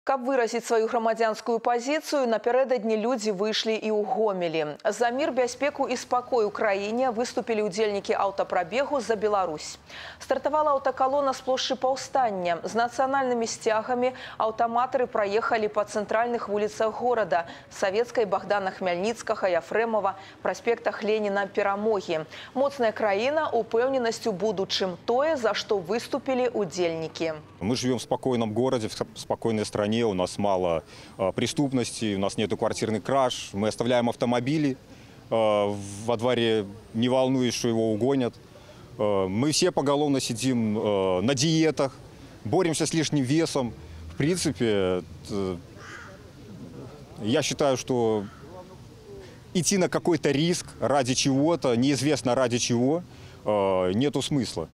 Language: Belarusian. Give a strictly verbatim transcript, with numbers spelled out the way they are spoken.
Каб выразіць сваю грамадзянскую пазіцыю, напярэдадні людзі выйшлі і ў Гомелі. За мір, бяспеку і спакой у краіне выступілі ўдзельнікі аўтапрабегу за Беларусь. Стартавала аўтакалона з плошчы Паўстання. З нацыянальнымі сцягамі аўтаматары праехалі па цэнтральных вуліцах горада – Савецкай, Богдана Хмельніцкага, Яфрэмова, праспектах Леніна, Перамогі. Моцная краіна, упэўненасць у будучым – тое, за што выступілі ўдзельнікі. Мы живем в спокойном городе, в спокойной стране, у нас мало э, преступности, у нас нету квартирных краж, мы оставляем автомобили э, во дворе, не волнуясь, что его угонят. Э, мы все поголовно сидим э, на диетах, боремся с лишним весом. В принципе, э, я считаю, что идти на какой-то риск ради чего-то, неизвестно ради чего, э, нету смысла.